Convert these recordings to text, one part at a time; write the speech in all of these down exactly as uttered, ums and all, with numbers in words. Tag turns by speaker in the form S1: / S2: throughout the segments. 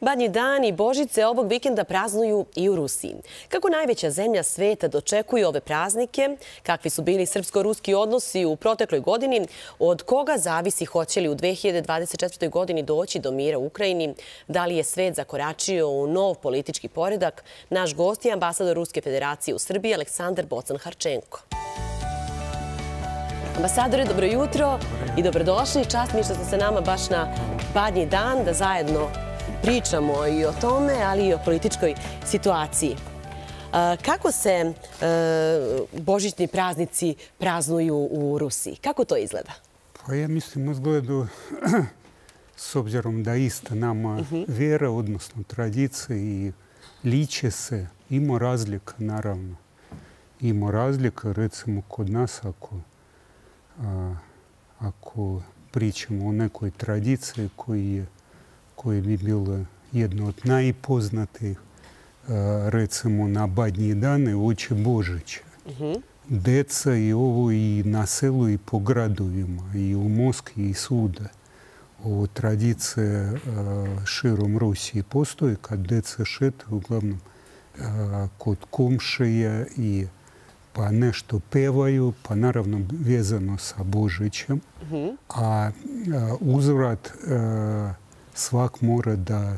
S1: Badnji dan i Božice ovog vikenda praznuju i u Rusiji. Kako najveća zemlja sveta dočekuje ove praznike, kakvi su bili srpsko-ruski odnosi u protekloj godini, od koga zavisi hoće li u dve hiljade dvadeset četvrtoj. godini doći do mira u Ukrajini, da li je svet zakoračio u nov politički poredak, naš gost je ambasador Ruske federacije u Srbiji Aleksandar Bocan-Harčenko. Ambasadore, dobro jutro i dobrodošli. Čast mi što ste sa nama baš na Badnji dan da zajedno pričamo i o tome, ali i o političkoj situaciji. Kako se božićni praznici praznuju u Rusiji? Kako to izgleda?
S2: Pa ja mislim izgleda, s obzirom da ista nama vjera, odnosno tradicija i liče se, ima razlika, naravno. Ima razlika, recimo, kod nas, ako ako pričamo o nekoj tradiciji koja bi bila jedna od najpoznatijih, recimo na Badnji dane uoči Božića. Deca i ovo i na selu i po gradovima, i u Moskvi i svuda. Ovo tradicija širom Rusije postoji, kad deca šetaju, uglavnom kod komšija i pa nešto pevaju, pa naravno vezano sa Božićem. A uzvrat svak mora da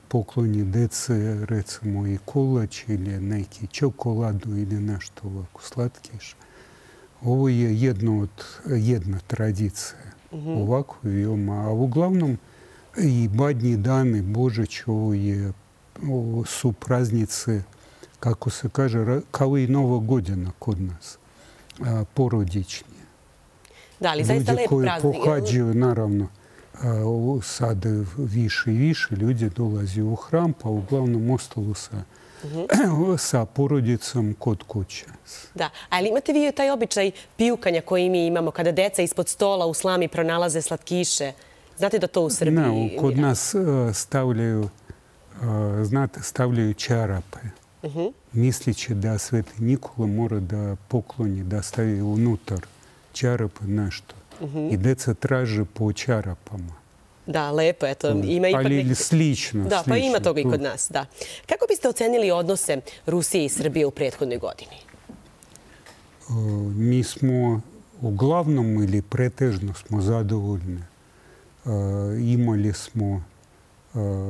S2: pokloni dece, recimo i kolač ili neki čokoladu ili nešto ovako slatkiše. Ovo je jedno od, jedna tradicija. Ovako veoma. A uglavnom i Badnji dan i Božić ovo je, ovo su praznice, kako se kaže, kao i Nova godina kod nas, porodični.
S1: Da, ali zaista lep praznik.
S2: Ljudi koji pohađaju, naravno, sad više i više ljudi dolazi u hram, pa uglavnom ostalo sa, sa porodicom kod kuće.
S1: Da, ali imate vi taj običaj pijukanja koji mi imamo kada deca ispod stola u slami pronalaze slatkiše? Znate da to u Srbiji...
S2: Ne, kod nas stavljaju, znate, stavljaju čarape. Mislići da Sveti Nikola mora da pokloni, da stavi unutar čarape nešto. I deca traže po čarapama.
S1: Da, lepo, eto. Ima ipak
S2: ali slično.
S1: Da, pa ima toga i kod nas, da. Kako biste ocenili odnose Rusije i Srbije u prethodnoj godini?
S2: Mi smo uglavnom ili pretežno smo zadovoljni. Imali smo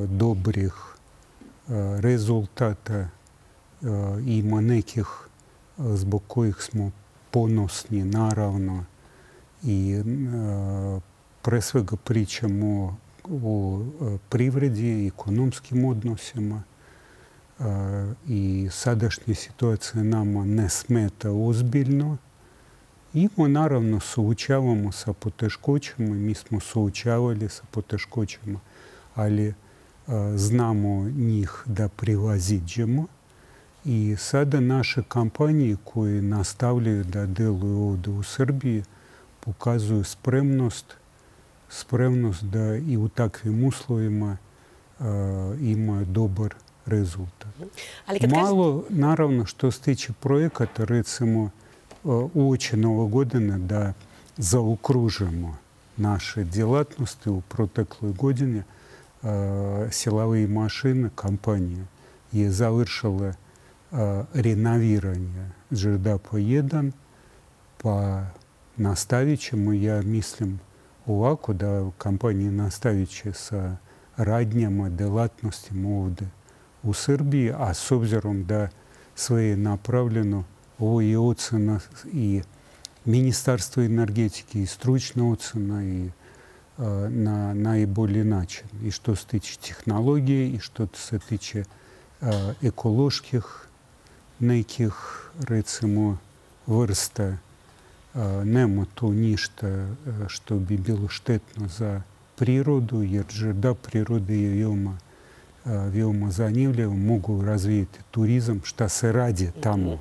S2: dobrih rezultata. Ima nekih zbog kojih smo ponosni, naravno. I pre svega pričamo o privredi i ekonomskim odnosima. I sadašnja situacija nama ne smeta ozbiljno. I mi naravno suočavamo sa poteškoćama. Mi smo suočavali sa poteškoćama, ali znamo njih da prevaziđemo. I sada naše kampanije koje nastavljaju da deluju ovdje u Srbiji pokazuju spremnost, spremnost da i u takvim uslovima ima dobar rezultat. Malo, naravno, što se tiče projekata, recimo, uoči Nove godine da zaokružimo naše djelatnosti u protekloj godini. Silovi mašine kompanije je završila renoviranje Žerdapa jedan, pa nastavit ćemo, ja mislim, ovako da kompanija nastavit će sa radnjama, delatnostima ovdje u Srbiji, a s obzirom da sve je napravljeno, ovo je ocena i Ministarstva energetike i stručna ocena i na najbolji način. I što se tiče tehnologije, i što se tiče ekoloških nekih, recimo, vrsta. Nema tu ništa što bi bilo štetno za prirodu, jer žrda prirode je veoma, veoma zanimljiva. Mogu razvijeti turizam, šta se radi tamo.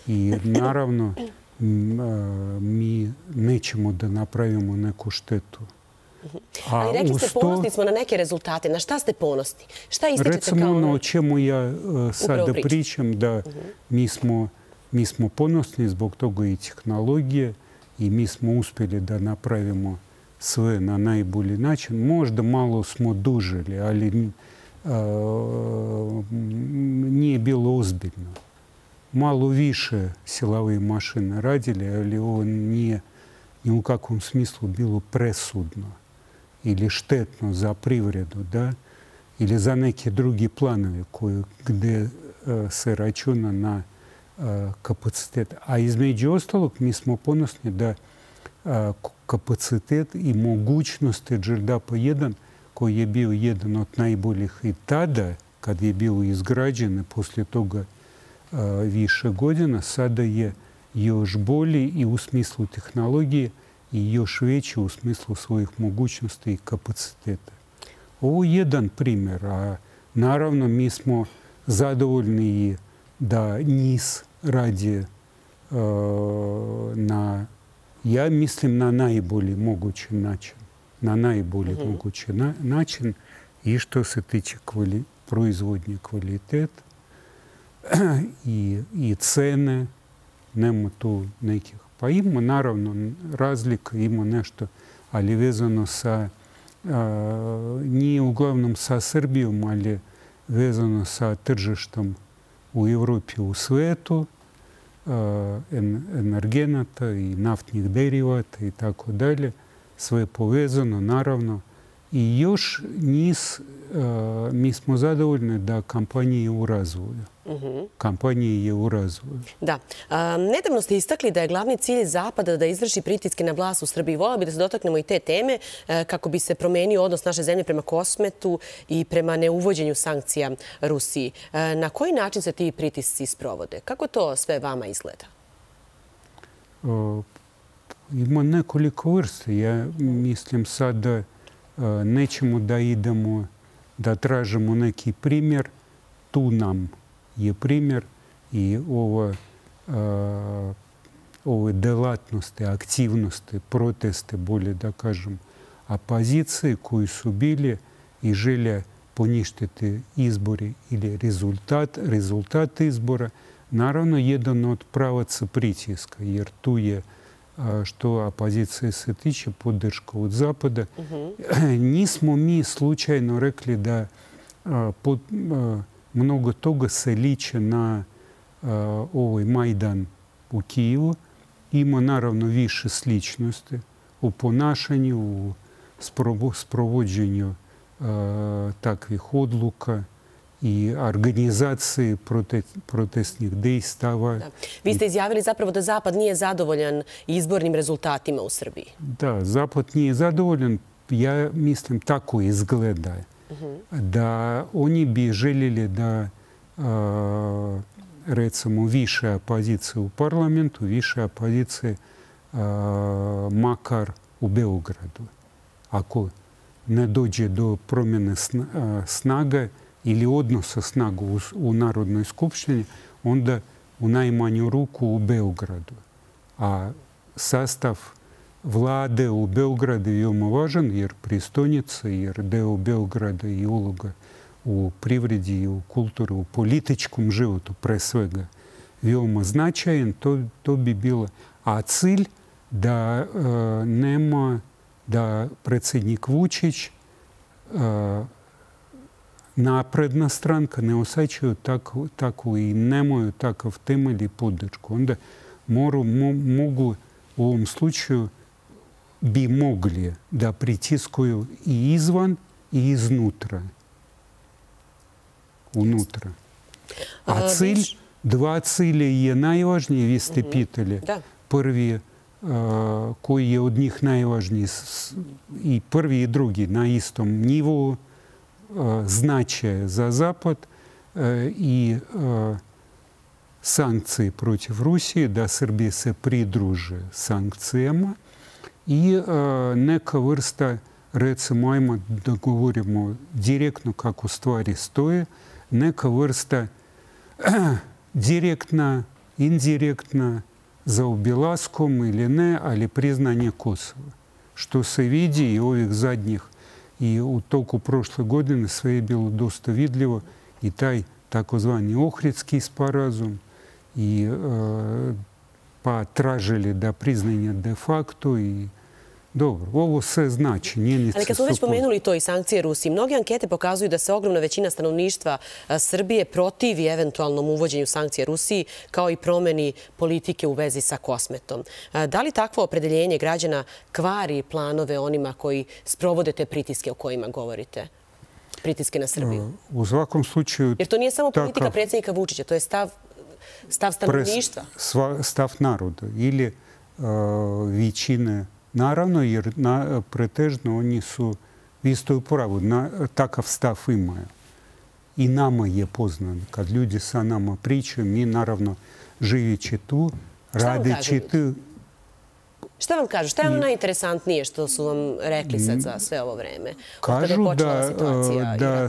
S2: I naravno, mi nećemo da napravimo neku štetu.
S1: Ali rekli ste, ponosni smo na neke rezultate. Na šta ste ponosni? Šta ističete kao...
S2: Recimo ono o čemu ja sada pričam, da mi smo Mi smo ponosni zbog toga i tehnologije i mi smo uspjeli da napravimo sve na najbolji način. Možda malo smo dužili, ali nije bilo ozbiljno. Malo više silovih mašina radili, ali ovo nije ni u kakvom smislu bilo presudno ili štetno za privredu, da? Ili za neke drugi planove koje, gde se računa na kapacitet. A između ostalog, mi smo ponosni da kapacitet i mogućnosti Đerdapa jedan, koji je bio jedan od najboljih i tada, kad je bio izgrađen, poslije toga više godina, sada je još bolji i u smislu tehnologije i još veći u smislu svojih mogućnosti i kapaciteta. Ovo je jedan primjer, a naravno mi smo zadovoljni da NIS radi na, ja mislim, na najbolji mogući način. Na najbolji mm-hmm. mogući na, način i što se tiče kvali, proizvodnje kvaliteta i, i cene, nema tu nekih. Pa ima naravno razlika, ima nešto, ali vezano sa, a, nije uglavnom sa Srbijom, ali vezano sa tržištem u Evropi, u svetu, a, en, energenata i naftnih derivata i tako dalje. Sve povezano, naravno. I još NIS, a, mi smo zadovoljni da kampanja je u razvoju. Uh-huh. Kampanja je u razvoju.
S1: Da. A, nedavno ste istakli da je glavni cilj Zapada da izvrši pritiske na vlast u Srbiji. Volila bi da se dotaknemo i te teme a, kako bi se promenio odnos naše zemlje prema Kosmetu i prema neuvođenju sankcija Rusiji. A, na koji način se ti pritisci sprovode? Kako to sve vama izgleda?
S2: A, ima nekoliko vrsta. Ja mislim sad da a, nećemo da idemo, da tražimo neki primjer. Tu nam je primjer i ova, a, ove delatnosti, aktivnosti, proteste, bolje da kažem, opozicije koji su bili i želje poništiti izbori ili rezultat, rezultat izbora, naravno jedan od pravaca pritiska, jer tu je, a, što opozicije se tiče, podrška od Zapada. Uh-huh. Nismo mi slučajno rekli da a, pod, a, mnogo toga se liče na uh, ovaj Majdan u Kijevu. Ima naravno više sličnosti u ponašanju, u sprovođenju uh, takvih odluka i organizaciji prote, protestnih dejstava.
S1: Da. Vi ste izjavili zapravo da Zapad nije zadovoljan izbornim rezultatima u Srbiji.
S2: Da, Zapad nije zadovoljan. Ja mislim tako izgleda. Da oni bi željeli da a, recimo više opozicije u parlamentu, više opozicije a, makar u Beogradu. Ako ne dođe do promjene snaga ili odnosa snaga u, u Narodnoj skupštini, onda u najmanju ruku u Beogradu. A sastav vlade u Beogradu je veoma važan, jer prestolnica, jer deo Beograda i uloga u privredi i u kulturi, u političkom životu, pre svega, veoma značajan. To, to bi bilo. A cilj da uh, nema, da predsjednik Vučić, uh, napredna stranka ne osjećaju tako, tako i nemaju takav temelj i podršku. Onda moru, mo, mogu u ovom slučaju bi mogli da pritiskuju i izvan i iznutra. Unutra. A cilj, dva cilja je najvažniji, vi ste pitali. Prvi, koji je od njih najvažniji, i prvi i drugi na istom nivou, značaje za Zapad i sankcije protiv Rusije, da Srbija se pridruže sankcijama i neka vrsta, recimo, ajmo da govorimo direktno kako stvari stoje, neka vrsta direktna, indirektna, za obilaskom ili ne, ali priznanje Kosova. Što se vidi i ovih zadnjih i u toku prošle godine sve je bilo dosta vidljivo i taj takozvani Ohridski sporazum i pa tražili da priznanje de facto i Dobro, ovo sve znači.
S1: Ali kad smo već pomenuli to i sankcije Rusiji, mnoge ankete pokazuju da se ogromna većina stanovništva Srbije protivi eventualnom uvođenju sankcija Rusiji, kao i promeni politike u vezi sa Kosmetom. Da li takvo opredeljenje građana kvari planove onima koji sprovode te pritiske o kojima govorite? Pritiske na Srbiju?
S2: U svakom slučaju...
S1: Jer to nije samo politika predsjednika Vučića, to je stav stanovništva.
S2: Stav naroda ili većine. Naravno, jer pretežno oni su isto u pravu. Takav stav imaju. I nama je poznat. Kad ljudi sa nama pričaju, mi naravno živeći tu, radeći tu...
S1: Šta vam kažu? Šta je ono najinteresantnije što su vam rekli sad za sve ovo vreme?
S2: Kažu da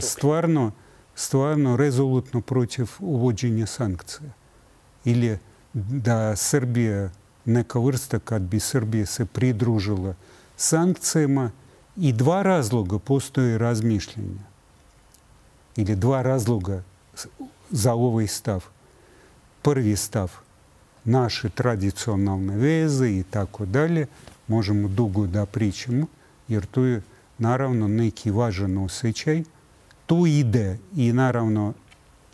S2: stvarno rezolutno protiv uvođenja sankcija. Ili da Srbija, neka vrsta kad bi Srbija se pridružila sankcijama, i dva razloga postoje razmišljenja. Ili dva razloga za ovaj stav. Prvi stav, naše tradicionalne veze i tako dalje, možemo dugo da pričamo, jer tu je naravno neki važan osjećaj. Tu ide i naravno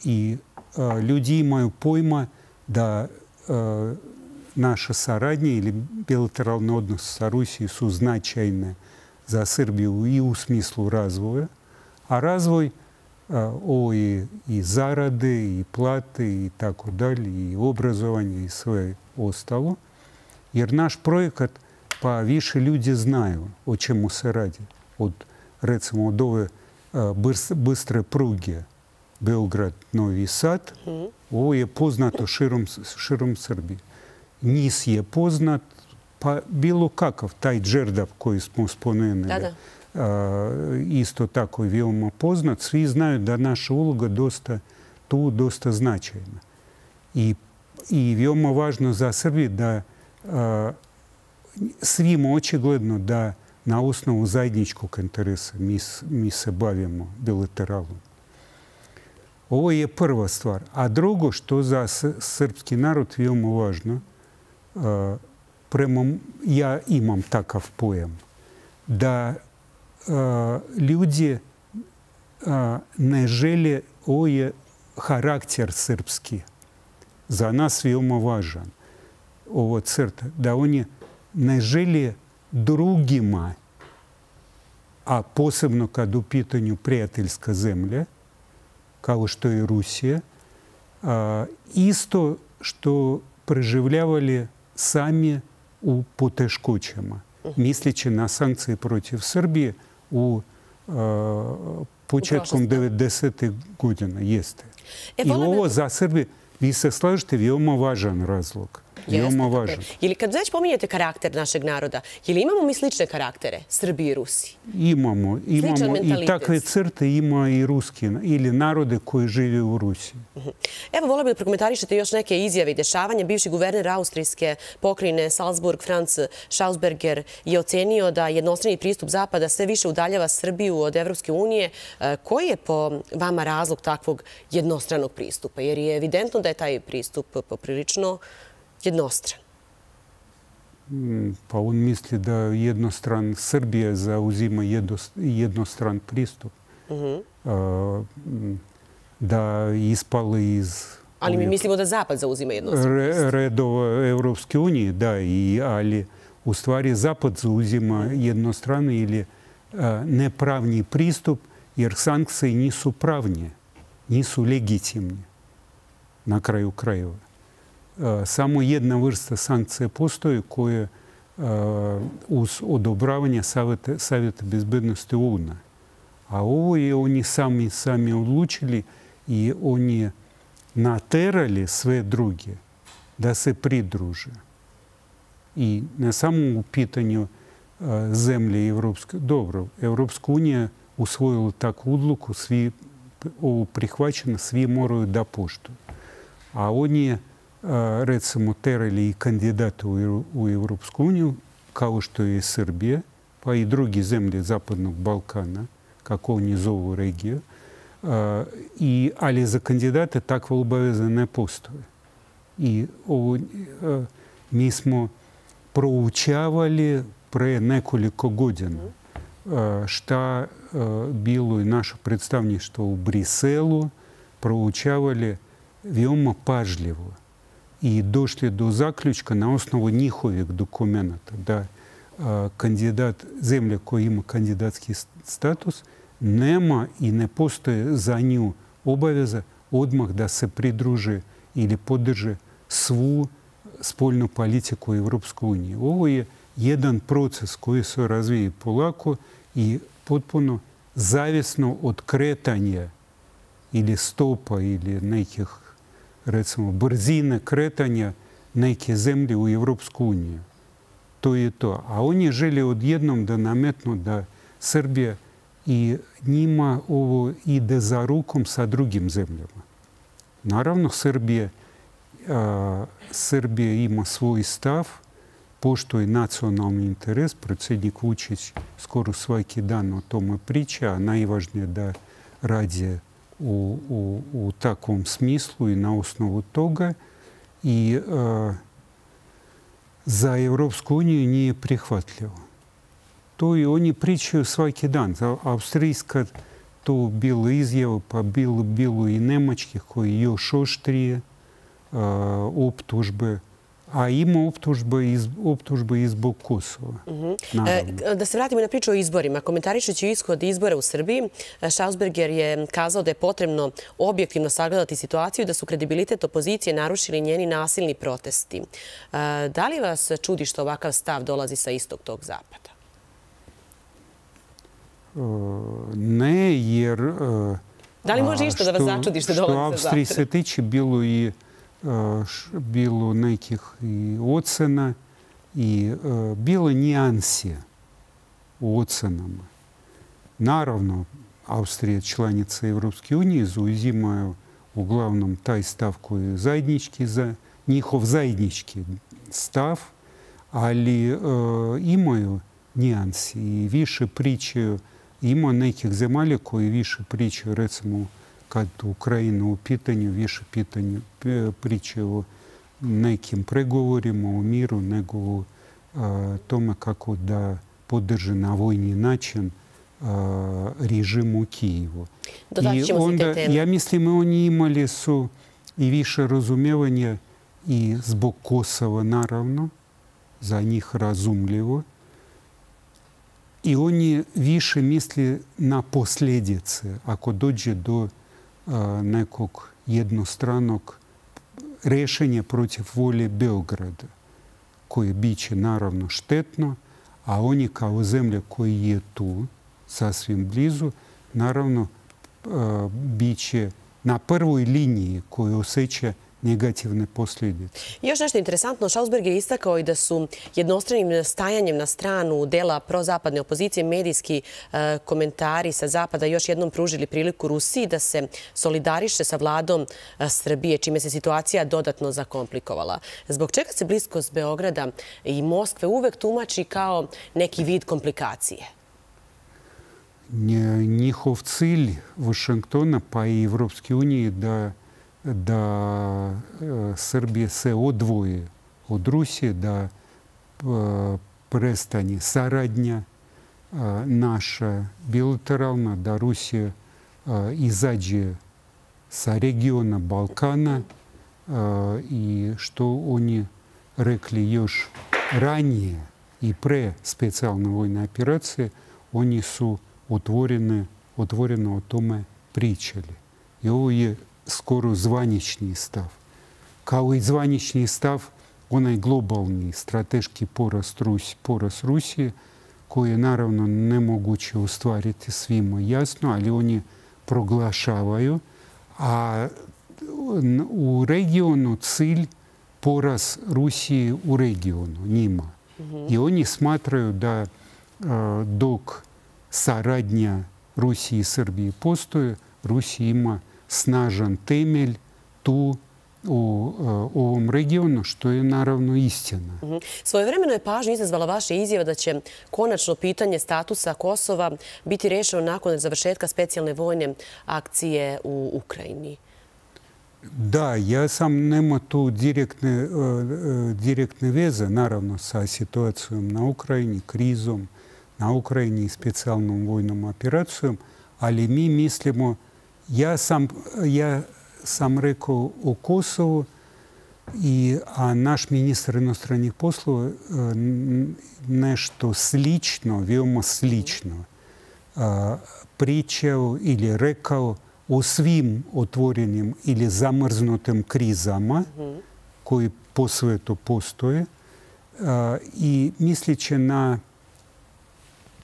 S2: i ljudi imaju pojma da naša saradnja ili bilateralni odnos sa Rusijom su značajne za Srbiju i u smislu razvoja. A razvoj, ovo je i zarade, i plate, i tako dalje, i obrazovanje, i sve ostalo. Jer naš projekat, pa više ljudi znaju o čemu se radi. Od, recimo, od ove bystre pruge Beograd-Novi Sad, ovo je poznato širom Srbije. Nis je poznat, pa bilo kakav, taj Đerdap koji smo spomenuli, isto tako je veoma poznat. Svi znaju da naša uloga dosta tu, dosta značajna. I veoma važno za Srbiju da svima očigledno da na osnovu zajedničkog interesa mi se bavimo bilateralno. Ovo je prva stvar. A drugo što za srpski narod veoma važno, prema, ja imam takav pojam, da ljudi ne žele, ovo je karakter srpski, za nas veoma važan, ovo crta, da oni ne žele drugima, a posebno kad u pitanju prijateljska zemlja, kao što je Rusija, isto što preživljavali sami u poteškoćama, misleći na sankcije protiv Srbije u početkom devedesetih godina. Jeste. I ovo za Srbije, vi se slažete, veoma važan razlog. Veoma važan.
S1: Ili kad već pominjete karakter našeg naroda, je li imamo mi slične karaktere, Srbiji i Rusiji?
S2: Imamo. Imamo i takve crte ima i ruski, ili narode koji žive u Rusiji.
S1: Evo, volio bih da prokomentarišete još neke izjave i dešavanja. Bivši guverner austrijske pokrajine Salzburg, Franz Schausberger, je ocenio da jednostrani pristup Zapada sve više udaljava Srbiju od Evropske unije. Koji je po vama razlog takvog jednostranog pristupa? Jer je evidentno da je taj pristup poprilično jednostran.
S2: Pa on misli da jednostran Srbija zauzima jednostran pristup. Da ispali iz...
S1: Ali mi mislimo da Zapad zauzima jednostran pristup.
S2: Redova Evropske unije, da, ali u stvari Zapad zauzima jednostrani ili nepravni pristup, jer sankcije nisu pravnje, nisu legitimne na kraju krajeva. Samo jedna vrsta sankcija postoji koja uz odobravanje Savjeta bezbednosti O U N-a. A ovo je oni sami sami odlučili i oni naterali sve druge da se pridruže. I ne samo u pitanju zemlje Evropske. Dobro, Evropska unija usvojila takvu odluku, svi ovo prihvaćeno, svi moraju da poštuju. A oni recimo terali i kandidata u Evropsku uniju, kao što je Srbija, pa i drugi zemlje Zapadnog Balkana, kako oni zovu regiju, ali za kandidate takva obaveza ne postoje. I mi smo proučavali, pre nekoliko godina šta bilo i naše predstavništvo u Briselu proučavali veoma pažljivo i došli do zaključka na osnovu njihovih dokumenta da kandidat, zemlja koja ima kandidatski status, nema i ne postoje za nju obaveza odmah da se pridruže ili podrže svu spoljnu politiku Evropske unije. Ovo je jedan proces koji se razvije polako i potpuno zavisno od kretanja ili stopa ili nekih, recimo, brzine kretanja neke zemlje u Evropsku uniju. To je to. A oni žele odjednom da nametnu da Srbija i njima ovo ide za rukom sa drugim zemljama. Naravno, Srbija, a, Srbija ima svoj stav, poštuje nacionalni interes. Predsjednik Vučić skoro svaki dan o tome priča, a najvažnije da radi u, u, u takvom smislu i na osnovu toga. I a, za Evropsku uniju nije prihvatljivo. To i oni pričaju svaki dan. Avstrijska to bilo izjava, pa bilo, bilo i nemačkih koji još oštrije a, optužbe. A ima optužba i, optužba i zbog Kosova.
S1: Uh-huh. e, da se vratimo na priču o izborima. Komentarišući ishod izbora u Srbiji, Schausberger je kazao da je potrebno objektivno sagledati situaciju i da su kredibilitet opozicije narušili njeni nasilni protesti. E, da li vas čudi što ovakav stav dolazi sa istog tog zapada?
S2: E, ne, jer... E,
S1: da li može išta da vas začudi što dolazi sa zapada?
S2: Što Avstriji se tiče, bilo i bilo nekih i ocena i bilo nijanse u ocenama. Naravno, Austrija, članica Evropske unije, zauzimaju uglavnom taj stav koji je zajednički, za njihov zajednički stav, ali imaju nijanse i više pričaju. Ima nekih zemalja koji više pričaju, recimo, kad Ukrajina u pitanju, više pitanje pričaju o nekim pregovorima o miru nego o tome kako da podrže na vojni način režim u Kijevu. I onda, ja mislim, oni imali su i više razumijevanja i zbog Kosova, naravno, za njih razumljivo. I oni više misli na posljedice ako dođe do nekog jednostranog rješenja protiv volje Beograda, koje biće naravno štetno, a oni kao zemlja koji je tu, sasvim blizu, naravno biće na prvoj liniji koji osjeća negativne posljedice.
S1: Još nešto interesantno, Schausberger je istakao i da su jednostranim stajanjem na stranu dela prozapadne opozicije medijski komentari sa zapada još jednom pružili priliku Rusiji da se solidariše sa vladom Srbije, čime se situacija dodatno zakomplikovala. Zbog čega se bliskost Beograda i Moskve uvek tumači kao neki vid komplikacije?
S2: Njihov cilj Vašingtona pa i Evropske unije da da Srbija se odvoji od Rusije, da prestane saradnja naša bilateralna, da Rusija izađe sa regiona Balkana i što oni rekli još ranije i pre specijalne vojne operacije, oni su otvorene, otvoreno o tome pričali. I ovo je skoro zvanični stav. Kao i zvanični stav, onaj globalni strateški porast, Rusi, porast Rusije, koji je naravno nemoguće ostvariti svima jasno, ali oni proglašavaju. A u regionu cilj porast Rusije u regionu, njima. Mm-hmm. I oni smatraju da a, dok saradnja Rusije i Srbije postoje, Rusija ima snažan temelj tu u ovom regionu, što je naravno istina.
S1: Mm-hmm. Svojevremeno je pažnju izazvala vaša izjava da će konačno pitanje statusa Kosova biti rešeno nakon završetka specijalne vojne akcije u Ukrajini.
S2: Da, ja sam nema tu direktne, direktne veze, naravno, sa situacijom na Ukrajini, krizom na Ukrajini i specijalnom vojnom operacijom, ali mi mislimo, ja sam, ja sam rekao o Kosovu, i, a naš ministar inostranih poslova nešto slično, veoma slično pričao ili rekao o svim otvorenim ili zamrznutim krizama koji po svetu postoje i misleći na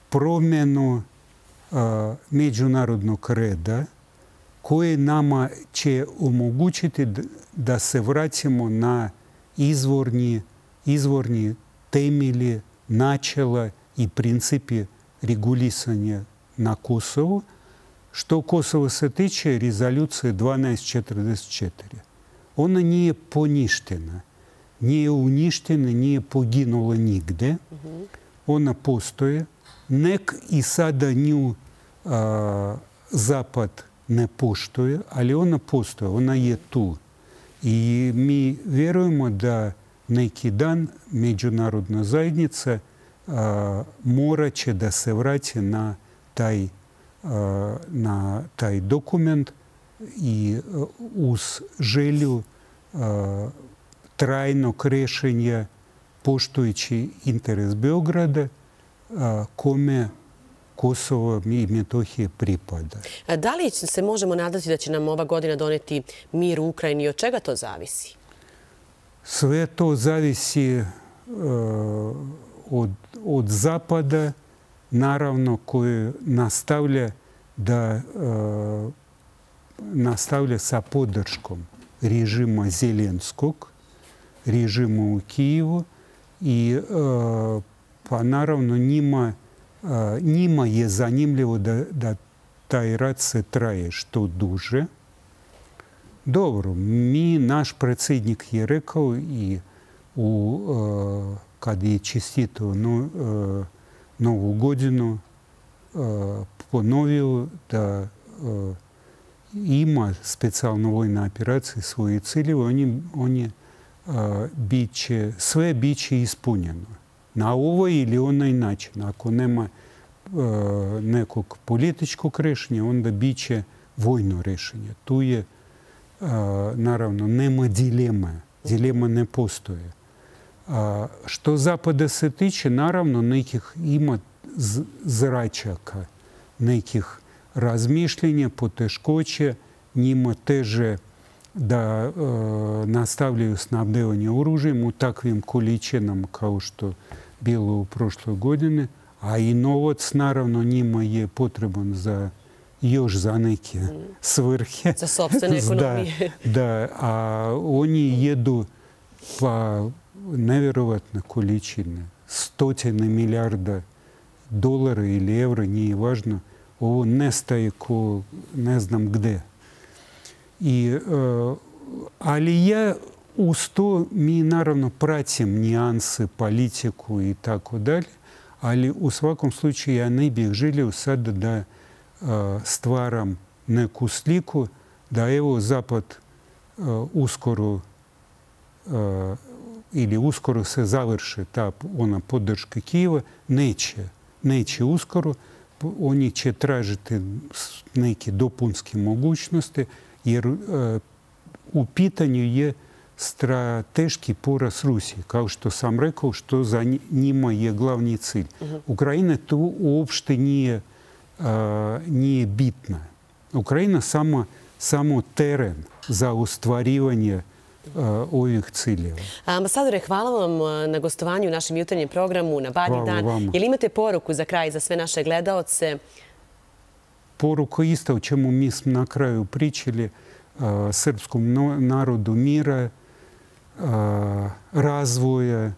S2: promjenu međunarodnog reda koje nama će omogućiti da se vratimo na izvorni, izvorni temelji, načela i principi regulisanja na Kosovu. Što Kosovo se tiče, rezolucije dvanaest četrdeset četiri. Ona nije poništena, nije uništena, nije poginula nigde. Ona postoje. Nek i sada nju a, Zapad ne poštuje, ali ona postoje, ona je tu. I mi vjerujemo da neki dan međunarodna zajednica a, morat će da se vrati na taj, a, na taj dokument i a, uz želju a, trajnog rješenja poštujući interes Beograda, a, kome Kosovo i Metohije pripada.
S1: Da li se možemo nadati da će nam ova godina doneti mir u Ukrajini i od čega to zavisi?
S2: Sve to zavisi uh, od, od Zapada, naravno, koji nastavlja da uh, nastavlja sa podrškom režima Zelenskog, režima u Kijevu i uh, pa naravno njima njima je zanimljivo da, da taj rat se traje što duže. Dobro, mi, naš predsjednik je rekao i u, uh, kad je čestitao no, uh, Novu godinu, uh, ponovio da uh, ima specijalna vojna operacija svoje ciljeve, oni, oni uh, biće, sve biće ispunjeno. Na ovaj ili onaj način. Ako nema e, nekog političkog rješenja, onda bit će vojno rješenje. Tu je, e, naravno, nema dilema. Dilema ne postoje. A, što Zapada se tiče, naravno, nekih ima zračaka, nekih razmišljenja, poteškoće, njima teže da e, nastavljaju snabdevanje oružjem u takvim količinama kao što bilo u prošloj godini, a i novac, naravno, njima je potreban za još za neke svrhe.
S1: Za sopstvene ekonomije.
S2: Da, da, a oni jedu pa nevjerovatne količine, stotine milijarda dolara ili evra, nije važno. Ovo nestaje ko ne znam gde. I, uh, ali ja uz to mi naravno pratim nijanse, politiku i tako dalje, ali u svakom slučaju ja ne bih želio sada da uh, stvaram neku sliku da evo Zapad uh, uskoro uh, ili uskoro se završi ta ona podrška Kijeva. Neće. Neće uskoro. Oni će tražiti neke dopunske mogućnosti, jer uh, u pitanju je strateški poraz Rusije, kao što sam rekao, što za njima je glavni cilj. Uh-huh. Ukrajina tu uopšte nije, uh, nije bitna. Ukrajina samo, samo teren za ostvarivanje uh, ovih ciljeva.
S1: Ambasadore, hvala vam na gostovanju u našem jutarnjem programu na Badnji dan.
S2: Vama.
S1: Jel imate poruku za kraj za sve naše gledaoce?
S2: Poruka isto o čemu mi smo na kraju pričali, uh, srpskom no, narodu mira, uh, razvoja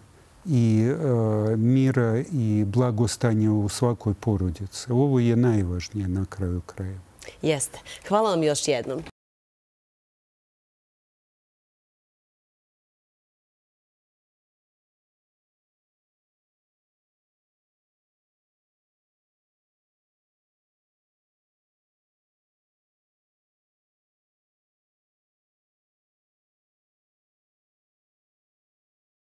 S2: i uh, mira i blagostanja u svakoj porodici. Ovo je najvažnije na kraju kraja.
S1: Jeste. Hvala vam još jednom.